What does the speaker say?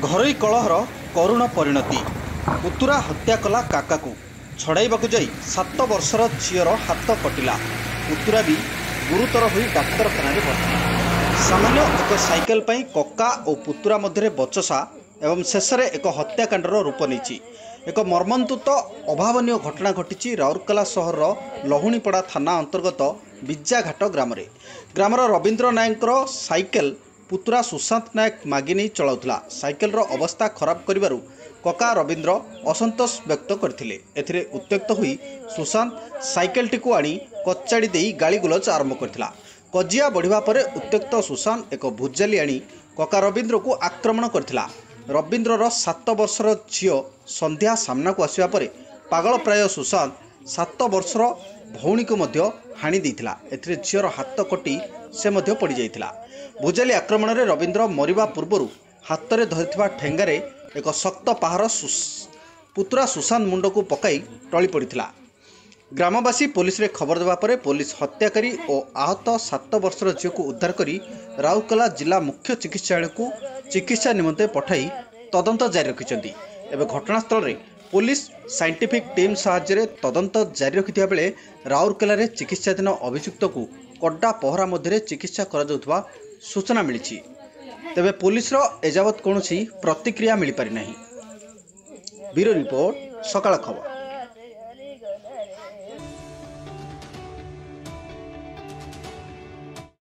ଘରୋଇ କଳହର କରୁଣ ପରିଣତି। ପୁତୁରା ହତ୍ୟା କଲା କାକାକୁ, ଛଡ଼ାଇବାକୁ ଯାଇ 7 ବର୍ଷର ଝିଅର ହାତ କଟିଲା। ପୁତୁରା ବି ଗୁରୁତର ହୋଇ ଡାକ୍ତରଖାନାରେ ଭର୍ତ୍ତି। ସାମାନ୍ୟ ଏକ ସାଇକେଲ ପାଇଁ କକା ଓ ପୁତୁରା ମଧ୍ୟରେ ବଚସା ଏବଂ ଶେଷରେ ଏକ ହତ୍ୟାକାଣ୍ଡର ରୂପ ନେଇଛି। ଏକ ମର୍ମନ୍ତୁଦ ଅଭାବନୀୟ ଘଟଣା ଘଟିଛି ରାଉରକେଲା ସହରର ଲହୁଣୀପଡ଼ା ଥାନା ଅନ୍ତର୍ଗତ ବିଜାଘାଟ ଗ୍ରାମରେ। ଗ୍ରାମର ରବୀନ୍ଦ୍ର ନାୟକଙ୍କର ସାଇକେଲ ପୁତୁରା ସୁଶାନ୍ତ ନାୟକ ମାଗି ନେଇ ଚଳାଉଥିଲା। ସାଇକେଲର ଅବସ୍ଥା ଖରାପ କରିବାରୁ କକା ରବୀନ୍ଦ୍ର ଅସନ୍ତୋଷ ବ୍ୟକ୍ତ କରିଥିଲେ। ଏଥିରେ ଉତ୍ତ୍ୟକ୍ତ ହୋଇ ସୁଶାନ୍ତ ସାଇକେଲଟିକୁ ଆଣି କଚାଡ଼ି ଦେଇ ଗାଳିଗୁଲଜ ଆରମ୍ଭ କରିଥିଲା। କଜିଆ ବଢ଼ିବା ପରେ ଉତ୍ତ୍ୟକ୍ତ ସୁଶାନ୍ତ ଏକ ଭୁଜାଲି ଆଣି କକା ରବୀନ୍ଦ୍ରକୁ ଆକ୍ରମଣ କରିଥିଲା। ରବୀନ୍ଦ୍ରର 7 ବର୍ଷର ଝିଅ ସନ୍ଧ୍ୟା ସାମ୍ନାକୁ ଆସିବା ପରେ ପାଗଳ ପ୍ରାୟ ସୁଶାନ୍ତ 7 ବର୍ଷର ଭଉଣୀକୁ ମଧ୍ୟ ହାଣି ଦେଇଥିଲା। ଏଥିରେ ଝିଅର ହାତ କଟି ସେ ମଧ୍ୟ ପଡ଼ିଯାଇଥିଲା। ଭୁଜାଲି ଆକ୍ରମଣରେ ରବୀନ୍ଦ୍ର ମରିବା ପୂର୍ବରୁ ହାତରେ ଧରିଥିବା ଠେଙ୍ଗାରେ ଏକ ଶକ୍ତ ପାହାର ପୁତୁରା ସୁଶାନ୍ତ ମୁଣ୍ଡକୁ ପକାଇ ଟଳି ପଡ଼ିଥିଲା। ଗ୍ରାମବାସୀ ପୋଲିସରେ ଖବର ଦେବା ପରେ ପୋଲିସ ହତ୍ୟାକାରୀ ଓ ଆହତ 7 ବର୍ଷର ଝିଅକୁ ଉଦ୍ଧାର କରି ରାଉରକେଲା ଜିଲ୍ଲା ମୁଖ୍ୟ ଚିକିତ୍ସାଳୟକୁ ଚିକିତ୍ସା ନିମନ୍ତେ ପଠାଇ ତଦନ୍ତ ଜାରି ରଖିଛନ୍ତି। ଏବେ ଘଟଣାସ୍ଥଳରେ ପୋଲିସ ସାଇଣ୍ଟିଫିକ୍ ଟିମ୍ ସାହାଯ୍ୟରେ ତଦନ୍ତ ଜାରି ରଖିଥିବା ବେଳେ ରାଉରକେଲାରେ ଚିକିତ୍ସାଧୀନ ଅଭିଯୁକ୍ତକୁ କଡା ପହରା ମଧ୍ୟରେ ଚିକିତ୍ସା କରାଯାଉଥିବା ସୂଚନା ମିଳିଛି। ତେବେ ପୋଲିସର ଏଯାବତ୍ କୌଣସି ପ୍ରତିକ୍ରିୟା ମିଳିପାରିନାହିଁ। ବ୍ୟୁରୋ ରିପୋର୍ଟ, ସକାଳ ଖବର।